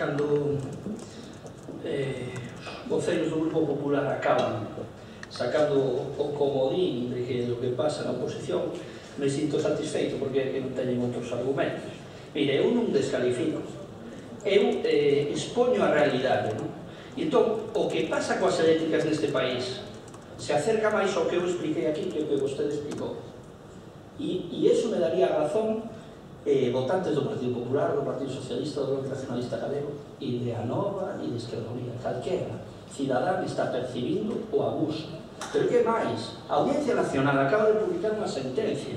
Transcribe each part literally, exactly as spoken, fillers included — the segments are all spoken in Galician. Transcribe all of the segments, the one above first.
cando eh, os voceros do Grupo Popular acaban sacando o comodín de que lo que pasa na oposición, me sinto satisfeito porque é que non teñen outros argumentos. Mire, eu non descalifico, eu eh, expoño a realidade, non? E entón, o que pasa coas eléctricas neste país se acerca máis ao que eu expliquei aquí que o que vostede explicou. E, e eso me daría razón eh, votantes do Partido Popular, do Partido Socialista, do Bloque Nacionalista Galego, e de Anova e de Esquerda Unida. Calquera cidadán está percibindo o abuso. Pero que máis? A Audiencia Nacional acaba de publicar unha sentencia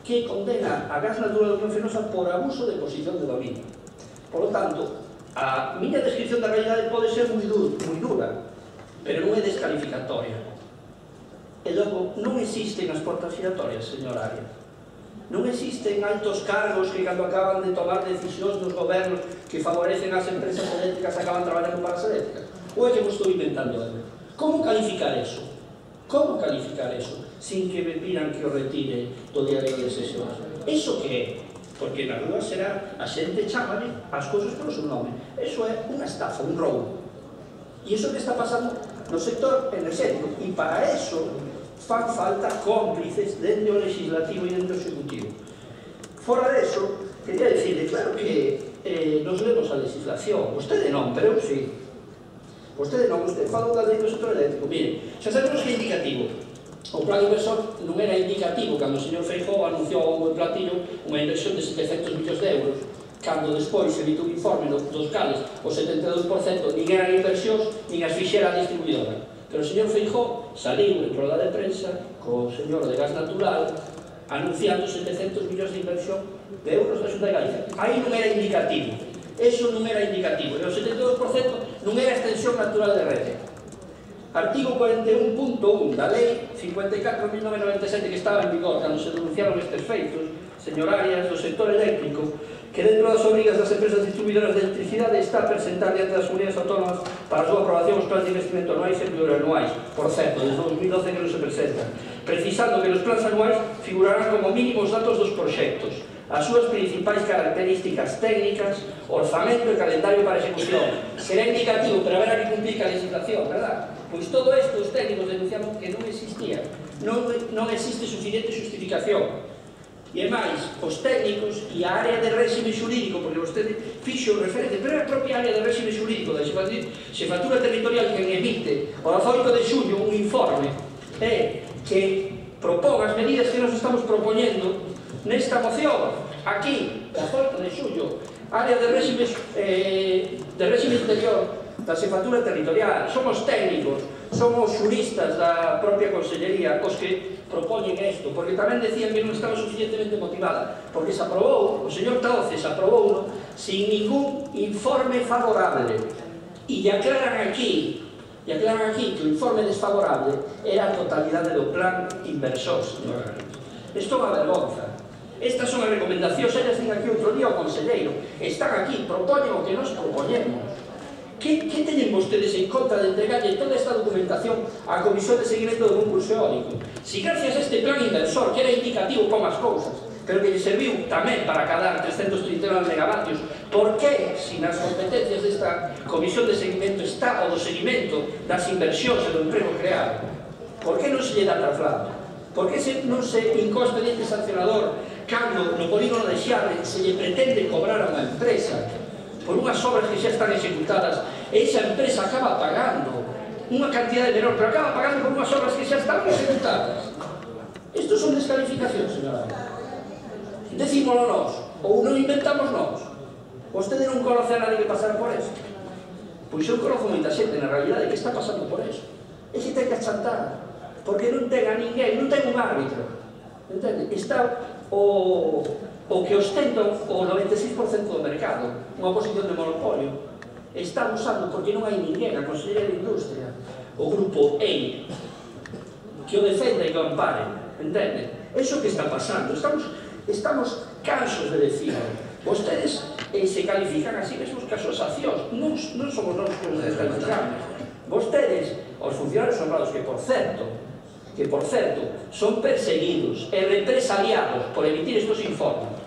que condena a Gas Natural de Unión Fenosa por abuso de posición de dominio. Por lo tanto, a miña descripción da realidade pode ser moi dura, pero non é descalificatoria. E logo, non existen as portas giratorias, señor Arias. Non existen altos cargos que cando acaban de tomar decisións dos gobernos que favorecen as empresas eléctricas acaban traballando para as eléctricas. Ou é que vos estou inventando algo? Como calificar eso? Como calificar eso? Sin que me pidan que o retire do diario de sesións. Eso que é? Porque na rúa será, a xente chámale as cousas polo seu nome. Eso é unha estafa, un roubo. E iso que está pasando no sector energético. E para eso fan falta cómplices dentro do legislativo e dentro do executivo. Fora deso, quería decirle, claro que eh, nos lemos a legislación. Vostede non, pero eu sí. Vostede non, vostede fala da lei do sector eléctrico. Mire, xa sabemos que é indicativo. O plan inversor non era indicativo cando o señor Feijóo anunciou a bombo e platillo unha inversión de setecentos millóns de euros, cando despois se emite un informe dos cales o setenta e dous por cento nin eran inversións, nin as fixera a distribuidora. Pero o señor Feijóo saliu en roda de prensa co señor de Gas Natural anunciando setecentos millóns de inversión de euros da Xunta de Galicia. Aí non era indicativo. Eso non era indicativo. E o setenta e dous por cento non era extensión natural de rede. Artigo cuarenta e un punto un da Lei cincuenta e catro barra mil novecentos noventa e sete que estaba en vigor cando se denunciaron estes feitos, señor Arias, do sector eléctrico, que dentro das obrigas das empresas distribuidoras de electricidade está a presentar diante das comunidades autónomas para a súa aprobación os plans de investimento anuais e plurianuais. Por certo, desde dos mil doce que non se presentan, precisando que nos plans anuais figurarán como mínimo os datos dos proxectos, as súas principais características técnicas, orzamento e calendario para execución. Será indicativo, pero haberá que cumplir a legislación, verdad? Pois todo isto os técnicos denunciaron que non existía, non, non existe suficiente justificación. E máis, os técnicos e a área de réxime xurídico, porque vostede fixo referente, pero é a propia área de réxime xurídico da Xefatura Territorial que emite o dezaoito de xullo un informe é que propón as medidas que nos estamos propoñendo nesta moción, aquí, dezaoito de xullo, área de réxime, eh, de réxime interior da Xefatura Territorial. Somos técnicos, somos xuristas da propia Consellería os que propoñen isto, porque tamén decían que non estaba suficientemente motivada, porque se aprobou, o señor Tauces aprobou sin ningún informe favorable, e aclaran aquí e aclaran aquí que o informe desfavorable era a totalidade do plan inversor, señor Garrido. Isto é unha vergonza. Estas son as recomendacións, elas din aquí outro día o conselleiro, están aquí, propoñen o que nos propoñemos. Que, que teñen vostedes en contra de entregarlle toda esta documentación á Comisión de Seguimento do Concurso Eólico? Si gracias a este plan inversor, que era indicativo como as cousas, pero que lle serviu tamén para cadar trescentos trinta e nove megavatios, por que, si nas competencias desta Comisión de Seguimento está o do seguimento das inversións e do emprego creado? Por que non se lle dá traslado? Por que non se incó expediente sancionador cando no polígono de Xarre se lle pretende cobrar a unha empresa por unhas obras que xa están executadas, e esa empresa acaba pagando unha cantidad de menor, pero acaba pagando por unhas obras que xa están executadas? Estos son descalificacións, señora. Decímolo nós, ou non inventamos nós. Vostede non conoce a nadie que pasara por eso? Pois eu conozo moita xente na realidade que está pasando por eso. E se ten que achantar, porque non ten a ninguén, non ten un árbitro. Entende? Está o... o que ostenta o noventa e seis por cento do mercado, unha posición de monopolio, está usando porque non hai ninguén, a Consellería de Industria, o grupo E I, que o defenda e que o ampare, entende? Eso que está pasando, estamos, estamos cansos de decir, vostedes eh, se califican así mesmos que as asociacións, non, non somos nós que nos descalificamos, vostedes, os funcionarios honrados, que por certo, que, por certo, son perseguidos e represaliados por emitir estos informes,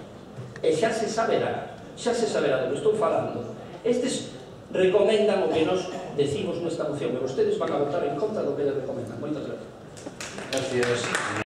e xa se saberá, xa se saberá do que estou falando, estes recomendan o que nos decimos nesta moción, e vostedes van a votar en contra do que les recomendan. Moitas gracias. Gracias.